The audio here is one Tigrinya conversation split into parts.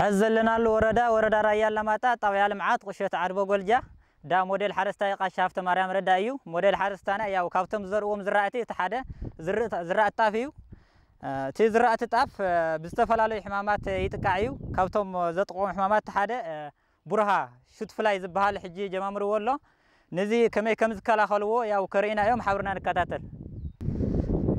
ሕዚ ዘለናሉ ወረዳ፣ ወረዳ ራያ ኣላማጣ፣ ጣብያ ልምዓት ቁሸት ዓድቦ ጎልጃ፣ ዳ ሞዴል ሓረስታይ ቃሻ ሃብተ ማርያም ረዳ እዩ። ሞዴል ሓረስታና ያው ካብቶም ዝዘርእዎም ዝራእቲ እቲ ሓደ ዝርእ-፣ ዝራእቲ ጣፍ እዩ። እ፣ እቲ ዝራእቲ ጣፍ፣ እ፣ ብዝተፈላለዩ ሕማማት ይጥቃዕ እዩ። ካብቶም ዘጥቅዎም ሕማማት እቲ ሓደ፣ እ፣ ቡርሃ ሹት ፍላይ ዝበሃል ሕጂ ጀማምርዎ ኣሎ። ነዚ ከመይ ከም ዝከላኸልዎ ያው ከርእዩና እዮም። ሓብርና ንከታተል።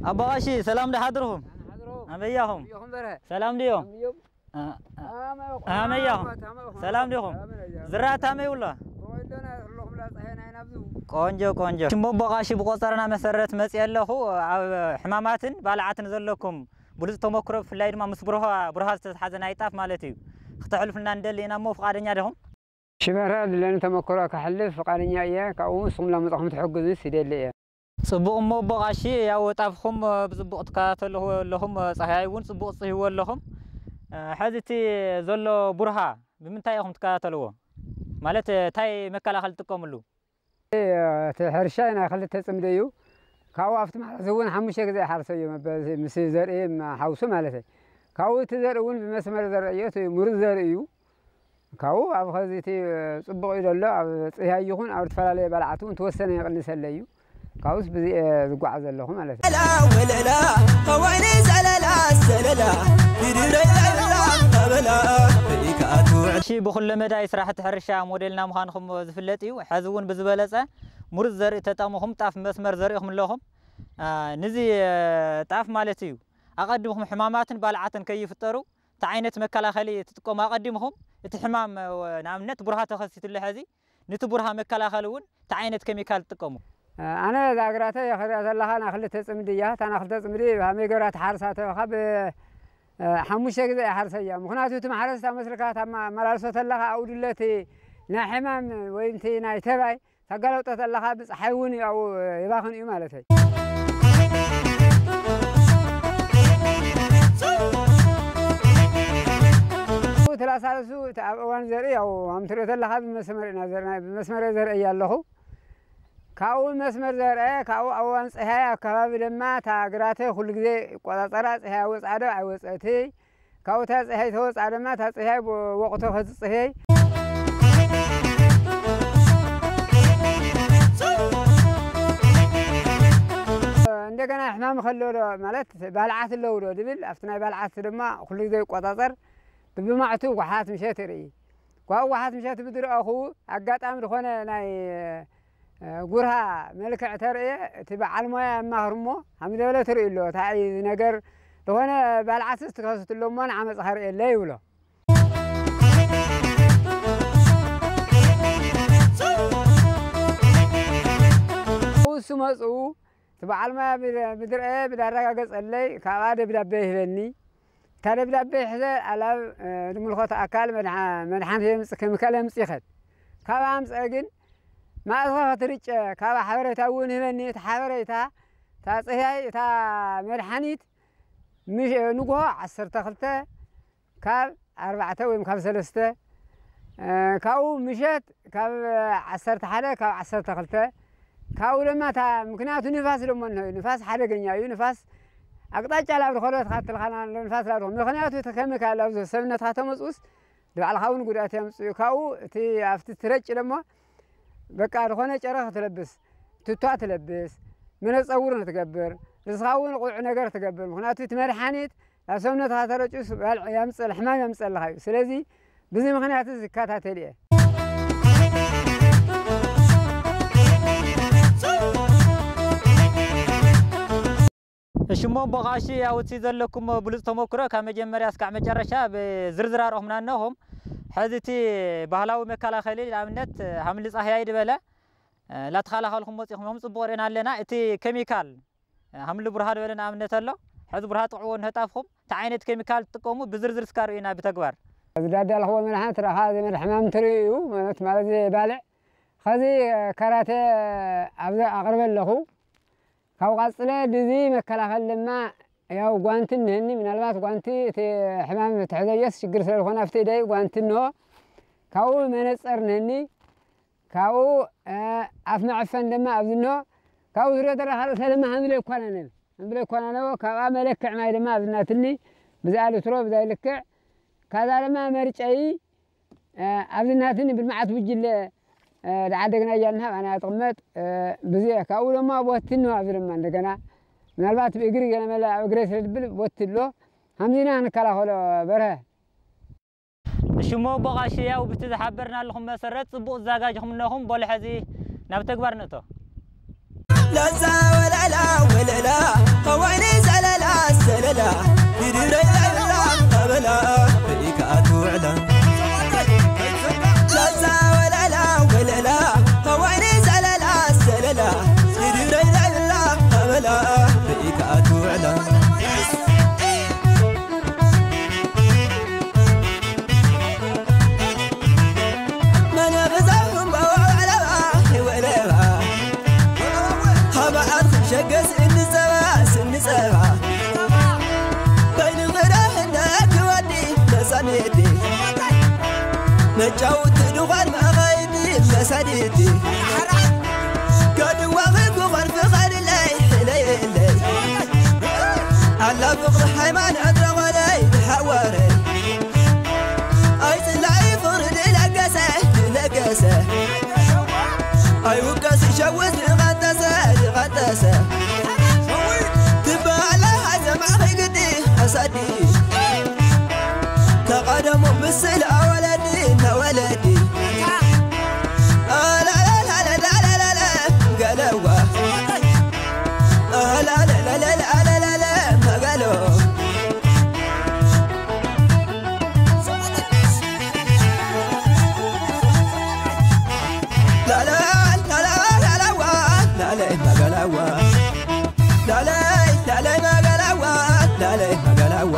ኣቦ ቃሺ፣ ሰላም ዶ ሓድርኹም? ሓድሮ። ኣመያኹም? ኣመያኹም በረ። ሰላም ድዮም? ኣመዮም። አ-፣ አ-፣ ኣመያኹም? ኣመያኹም? ኣመያኹም? ሰላም ዲኹም? ሰላም ነያ። ዝራእቲ ኣመይ ውሎ? ወይሎና ዘለኹም ላፀሐና ኢና ኣብዚ። ቆንጆ፣ ቆንጆ። ሽም ኣቦ ቃሺ ብቆፀረና መሰረት መፅየ ኣለኹ። ኣብ ሕማማትን ባልዓትን ዘለኩም ብሉፅ ተመክሮ፣ ብፍላይ ድማ ምስ ብርሃ፣ ብርሃ ዝተትሓዘ ናይ ጣፍ ማለት እዩ፣ ክተሕልፉልና ንደሊ ኢና እሞ ፍቓደኛ ዲኹም? ሽበራ ድለኒ ተመክሮ ከሕልፍ ፍቓደኛ እየ። ካብኡ ንስኹም ላመጻኹም ትሕግዙ ይደሊ እየ። ጽቡቕ እሞ ኣቦ ቃሺ፣ ያው ጣፍኹም ብጽቡቕ ትከታተልዎ ኣለኹም፣ ጻህያይ እውን ጽቡቕ ጽህይዎ ኣለኹም። እ፣ ሕዚ እቲ ዘሎ ቡርሃ ብምንታይ ኢኹም ትከታተልዎ? ማለት፣ እንታይ መከላኸሊ ትጥቀምሉ? እቲ ሕርሻ ናይ ክልተ ጽምዲ እዩ። ካብኡ ኣብቲ ማሕረስ እውን ሓሙሽተ ግዜ ይሓርሰ እዩ፣ በዚ ምስ ዘርኢ ሓውሱ ማለት እዩ። ካብኡ እቲ ዘርኢ እውን ብመስመር ዘርኢ እዩ፣ እቲ ምሩፅ ዘርኢ እዩ። ካብኡ ኣብ ኸዚ እቲ ጽቡቕ እዩ ዘሎ፣ ኣብ ጽህያይ ይኹን ኣብ ዝተፈላለየ ባልዓት እውን ተወሰነ ይቕንሰለ እዩ። ካብኡስ ብዚ እየ ዝጓዓዝ ዘለኹ ማለት እዩ። ወለላ፣ ወይኒ ዘለላ፣ ዘለላ፣ ይድረይ ለላ፣ በላ፣ በይካቱ። እሺ፣ ብኹለ መዳይ ስራሕቲ ሕርሻ ሞዴልና ምዃንኹም ዝፍለጥ እዩ። ሕዚ እውን ብዝበለጸ ምሩፅ ዘርኢ ተጠቕምኹም ጣፍ መስመር ዘሪእኹም ኣለኹም። አ፣ ንዚ፣ እ፣ ጣፍ ማለት እዩ፣ ኣቐዲምኹም ሕማማትን ባልዓትን ከይፍጠሩ፣ እንታይ ዓይነት መከላኸሊ ትጥቀሙ ኣቐዲምኹም? እቲ ሕማም፣ እ፣ ንኣብነት ቡርሃ ተኸሲቱሉ ሕዚ፣ ነቲ ቡርሃ መከላኸሊ እውን እንታይ ዓይነት ኬሚካል ትጥቀሙ? ኣነ እዛ ግራተይ ክሪኣ ዘለኻ ናይ ክልተ ጽምዲ እያ። እታ ናይ ክልተ ጽምዲ ብሃመይ ገብራ ትሓርሳ ተበኻ ብ-፣ ሓሙሽተ ግዜ እያ ሓርሰያ። ምኽንያቱ እቲ ማሕረስ እታ መስልካ እታ ማ-፣ መላልሶ ተለኻ ኣብኡ ድለቲ ናይ ሕማም ወይ እቲ ናይ ተባይ ተጋለጦ ተለኻ ብጸሓይ እውን ኣብኡ የባኽን እዩ ማለተይ። እቲ ላሳለሱ እቲ ኣብ እዋን ዘርኢ ያው ኣምትሪኦ ተለኻ ብመስመር ኢና ዘርና፣ ብመስመር ዘርኢ እያ ኣለኹ። ካብኡ መስመር ዘርአ፣ ካብኡ ኣብ እዋን ጸሃይ ኣከባቢ ድማ እታ ግራተይ ኩሉ ግዜ ይቆጻጸራ፣ ጸሃይ ወጽኣ ዶ ኣይወጸእትይ። ካብኡ እታ ጸሃይ ተወጽኣ ድማ እታ ጸሃይ ብወቕቱ ከትጽህየይ። እንደገና ሕማም ከሎ ዶ ማለት ባልዓት ኣለዉ ዶ ድብል፣ ኣብቲ ናይ ባልዓት ድማ ኩሉ ግዜ ይቆጻጸር። ብብማዕቱ ጓሓት ምሸት ይርኢ። ጓ-፣ ጓሓት ምሸት ብዝረኣኹ ኣጋጣሚ ዝኾነ ናይ እ፣ ጉርሃ መልክዕ ተርእየ፣ እቲ በዓል ሞያ የማኽር እሞ፣ ሃም ዝበለ ትርኢ ኣሎ፣ እንታይ እዩ እዚ ነገር፣ ዝኾነ ባልዓትስ ትኸስት ኣሎ እሞ፣ ንዓ መጽኻ ርእየለ ይብሎ። እሱ መጽኡ፣ እቲ በዓል ሞያ ብድ-፣ ብድርአ፣ ብዳረጋገጸለይ፣ ካብኣ ደብዳቤ ይህበኒ። እታ ደብዳቤ ሕዘ ኣላብ፣ እ፣ ዝምልኸቶ ኣካል መድሓ-፣ መድሓኒት የምጽ-፣ ኬሚካል የምጽእ ይኸድ። ካብ ኣምጽአ ግን ማእዝኻ ክትርጨ ካብ ሓበሬታ እውን ህበኒ። እቲ ሓበሬታ፣ እታ ጽህያይ፣ እታ መድሓኒት ምሽ-፣ ንግሆ ዓሰርተ ክልተ ካብ ኣርባዕተ ወይም ካብ ሰለስተ፣ እ፣ ካብኡ ምሸት ካብ ዓሰርተ ሓደ ካብ ዓሰርተ ክልተ፣ ካብኡ ድማ እታ፣ ምክንያቱ ንፋስ ደሞ እንሆ እዩ። ንፋስ ሓደገኛ እዩ። ንፋስ ኣቅጣጫ ላብ ድኸዶ ትኻትልኻና ኣሎ፣ ንፋስ ላብ ድኸዶ። ምክንያቱ እቲ ኬሚካል ኣብ ሰብነትካ ተመጽኡስ ንባዕልኻ እውን ጉድኣት የምጽእ እዩ። ካብኡ እቲ ኣብቲ ትረጭ ደሞ በቃ ዝኾነ ጨረኽ ትለብስ፣ ቱታ ትለብስ፣ መነጸውር ትገብር፣ ርእስኻ እውን ቁዕ ነገር ትገብር። ምክንያቱ እቲ መድሓኒት ናብ ሰብነትኻ ተረጭኡስ ባልዕ የምጽእ፣ ሕማም የምጸልኻ እዩ። ስለዚ ብዚ ምኽንያት እዚ ይከታተል እየ። እሺ፣ እሞ ኣቦ ቃሺ፣ ያው እቲ ዘለኩም ብሉጽ ተመክሮ ካብ መጀመርያ እስካዕ መጨረሻ ብዝርዝር ኣርኦምና እነኹም። ሕዚ እቲ ባህላዊ መከላኸሊ ንኣብነት ሃምሊ ጻህያይ ድበለ፣ እ፣ ላተኸላኸልኩም መጺኹም እዮም፣ ጽቡቕ ርኢና ኣለና። እቲ ኬሚካል፣ እ፣ ሃምሊ ቡርሃ ድበለ ንኣብነት ኣሎ። ሕዚ ቡርሃ ጥቕዕዎ ንህጣፍኩም፣ እንታይ ዓይነት ኬሚካል ትጥቀሙ ብዝርዝር እስካ ርእዩና ብተግባር። እዚ ዳዳልኽዎ መድሓኒት ረኻ፣ እዚ መድሕ ሕማም ትርእዩ፣ ማለት፣ ማለት፣ እዚ ባልዕ። ኸዚ፣ እ፣ ካራተ ኣብዚ ኣቕርበ ኣለኹ። ካብ ቐጽለ ድዚ መከላኸሊ ድማ ያው ጓንቲ እኒሀኒ። ምናልባት ጓንቲ እቲ ሕማም ትሕዘዮስ ሽግር ስለ ዝኾነ ኣብቲ ኢደይ ጓንቲ እንሆ። ካብኡ መነጸር እኒሀኒ። ካብኡ፣ እ፣ ኣፍ መዐፈን ድማ ኣብዚ እንሆ። ካብኡ ዝሪኦ ዘለኻ ርእሰ ድማ ሃምብለ ይኳናነብ። ሃምብለ ይኳናነቦ። ካብኣ መለክዕ ማይ ድማ ኣብዚ እናትኒ። ብዚኣ ልትሮ፣ ብዛይ ልክዕ። ካዛ ድማ መርጨይ ኣብዚ ናትኒ ብልምዓት ጉጅለ ደዓደግና እያልና ኣነ ኣጥቕመጥ ብዙ ካብኡ ድማ ቦትን ነው ኣብዚ ድማ እንደገና ምናልባት ብእግሪ ገለመለ ኣብ እግረ ስለ ድብል ቦት ኣሎ። ከምዚና ንከላኸሎ በርሀ። እሽሞ ቦቓሽያው ብቲ ዝሓበርናልኹም መሰረት ጽቡቕ ዝዛጋጅኹም እነኹም። በሉ ሕዚ ናብ ተግባር ንእቶ። ለዛ ወለላ ወለላ ከዋይኒ ዘለላ ዘለላ ይድረይ ለላ ተበላ ርኢካ ኣትውዕላ ለዛ ወለላ ወለላ ከዋይኒ ዘለላ ዘለላ ይድረይ ለላ ተበላ ርኢካ ኣትውዕላ መጫውቲ ድዃን መኻይዲ መሳዲቲ ገድዋኺ ክኾን ፍቓድለይ ሕለየለይ ኣላ ፍቕሪ ሃይማኖት ረኾለይ ሓዋረ ኣይፅላኢ ፍቕሪ ድለገሰ ድለገሰ ኣይውቀስ ይሸውስ ድቐጠሰ ድቐጠሰ ትበሃለ ሃዘማኺ ግዲ ኣሳዲ ተቐደሙ ምስል ኣወለዲ ነወለዲ ኣላላላላላላላ ገለዋ ኣላላላላላላላ መገሎ ላላ ላላ ላላዋ ላለይ መገለዋ ላለይ ላለይ መገለዋ ላለይ መገለዋ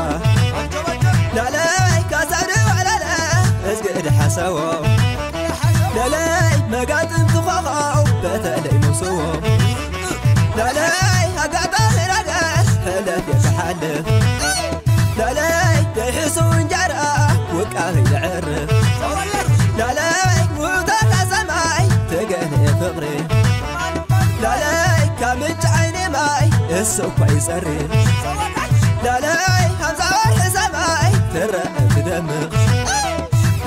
ላለይ ካሳድ ዋላለ እዝግድ ሓሰቦ ላለይ መጋጥም ትኾኸው በተለይ ሙስዎ ላለይ ኣጋጣሚ ረገስ ሕለፍ የክሓልፍ ላለይ ደሒሱ እንጀራ ውቃሪ ይዕርፍ ላለይ ውእቶታ ሰማይ ትገነ ፍቕሪ ላለይ ካብ ምንጭ ዓይኒ ማይ እሱ እኳ ይጸሪ ላለይ ሃምሳ ወርሒ ሰማይ ትረአ ትደምቕ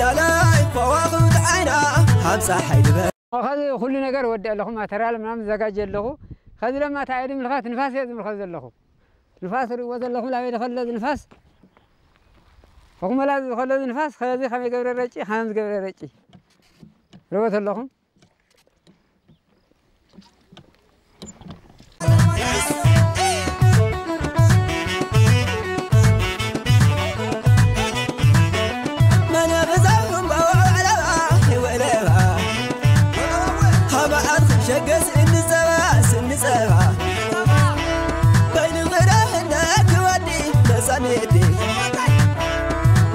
ላለይ ከዋኽብቲ ዓይና ሃምሳ ሓይሊ በ ከዚ ኩሉ ነገር ወዲ ኣለኹ ማተርያል ምናምን ዘጋጀ ኣለኹ። ከዚ ለማ እንታይ እየ ድምልኻት ንፋስ እየ ዝምልኸት ዘለኹ። ንፋስ ርእዎ ዘለኹም ላበይ ዝኸለዝ ንፋስ ኹመላ ዝኸለዝ ንፋስ ከዚ ከመይ ገብረ ረጪ ከመም ዝገብረ ረጪ ርወት ኣለኹም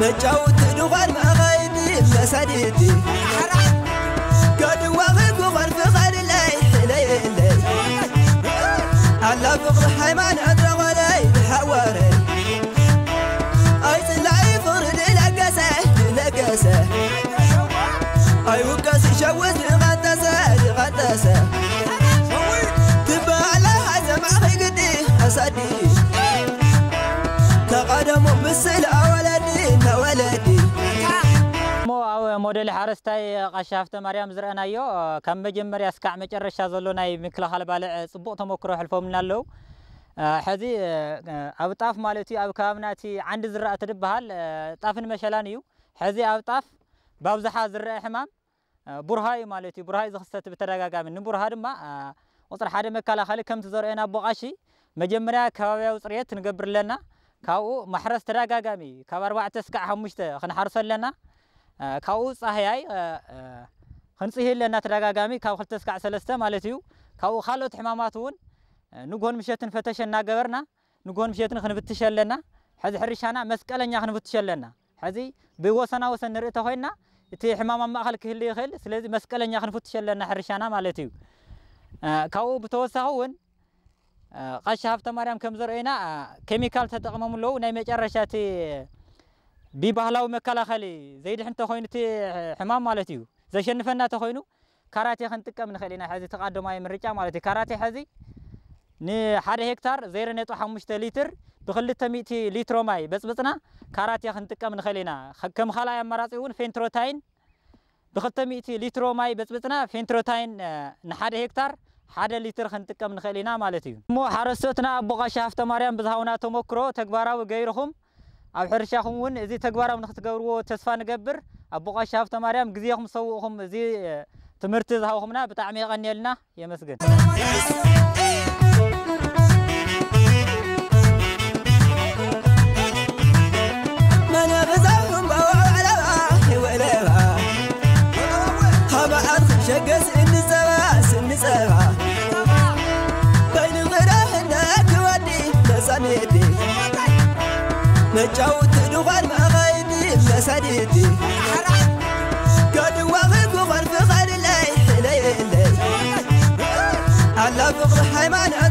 መጫውቲ ድዃን መኻይዲ መሳዲቲ ገድዋ ክኾን ፍቓድለይ ሕለየለይ ኣላ ፍቕሪ ሃይማኖት ረኾለይ ሓዋረ ኣይፅላኢ ፍቕሪ ድለገሰ ድለገሰ ኣይውቀስ ይሸውስ ድቐጠሰ ድቐጠሰ ትበሃለ ሃይዘማኺ ግዲ ኣሳዲ ተቐደሙ ምስል ኣወለዲ ነወለዲ እሞ ኣብ ሞዴል ሓረስታይ ቃሻ ሃፍተ ማርያም ዝረአናዮ ካብ መጀመርያ እስካዕ መጨረሻ ዘሎ ናይ ምክልኻል ባልዕ ፅቡቕ ተመክሮ ሕልፎምና ኣለዉ። ሕዚ ኣብ ጣፍ ማለት እዩ ኣብ ከባብና እቲ ዓንዲ ዝራእቲ ዝበሃል ጣፍን መሸላን እዩ። ሕዚ ኣብ ጣፍ ብኣብዝሓ ዝረአ ሕማም ቡርሃ እዩ ማለት እዩ። ቡርሃ እዩ ዝኽሰት ብተደጋጋሚ። ንቡርሃ ድማ ቁፅሪ ሓደ መከላኸሊ ከምቲ ዘርእየና ኣቦ ቃሺ መጀመርያ ከባብያዊ ፅርየት ንገብር ኣለና። ካብኡ ማሕረስ ተደጋጋሚ ካብ ኣርባዕተ እስካዕ ሓሙሽተ ክንሓርሶ ኣለና። ካብኡ ፃህያይ ክንፅሂ ኣለና ተደጋጋሚ ካብ ክልተ እስካዕ ሰለስተ ማለት እዩ። ካብኡ ካልኦት ሕማማት እውን ንግሆን ምሸትን ፈተሸ እናገበርና ንግሆን ምሸትን ክንፍትሽ ኣለና። ሕዚ ሕርሻና መስቀለኛ ክንፍትሽ ኣለና። ሕዚ ብወሰና ወሰን ንርኢ ተኾይንና እቲ ሕማም ኣብ ማእኸል ክህሉ ይኽእል። ስለዚ መስቀለኛ ክንፍትሽ ኣለና ሕርሻና ማለት እዩ። ካብኡ ብተወሳኺ እውን ቀሺ ሃብተ ማርያም ከም ዘርእዩና ኬሚካል ተጠቕሞም ኣለዉ። ናይ መጨረሻ እቲ ብባህላዊ መከላኸሊ ዘይድሕን ተኾይኑ እቲ ሕማም ማለት እዩ ዘሸንፈና ተኾይኑ ካራቴ ክንጥቀም ንኽእል ኢና። ሕዚ እቲ ቀዳማይ ምርጫ ማለት እዩ። ካራቴ ሕዚ ንሓደ ሄክታር ዜሮ ነጥቢ ሓሙሽተ ሊትር ብክልተ ሚእቲ ሊትሮ ማይ በጽብጽና ካራትያ ክንጥቀም ንኽእል ኢና። ከም ካልኣይ ኣማራጺ እውን ፌንትሮታይን ብክልተ ሚእቲ ሊትሮ ማይ በጽብጽና ፌንትሮታይን ንሓደ ሄክታር ሓደ ሊትር ክንጥቀም ንኽእል ኢና ማለት እዩ። እሞ ሓረስቶትና ኣቦ ቃሻ ሃፍተ ማርያም ብዝሃውና ተመክሮ ተግባራዊ ገይርኹም ኣብ ሕርሻኹም እውን እዚ ተግባራዊ ንክትገብርዎ ተስፋ ንገብር። ኣቦ ቃሻ ሃፍተ ማርያም ግዜኹም ሰውእኹም እዚ ትምህርቲ ዝሃብኹምና ብጣዕሚ የቐንየልና። የመስግን። መጫውቲ ድዃን መኻይዲ መሳድቲ ከድዋኺ ክኾን ፍቐድለይ ሕለየለይ ኣላ ፍቕሪ ሃይማኖት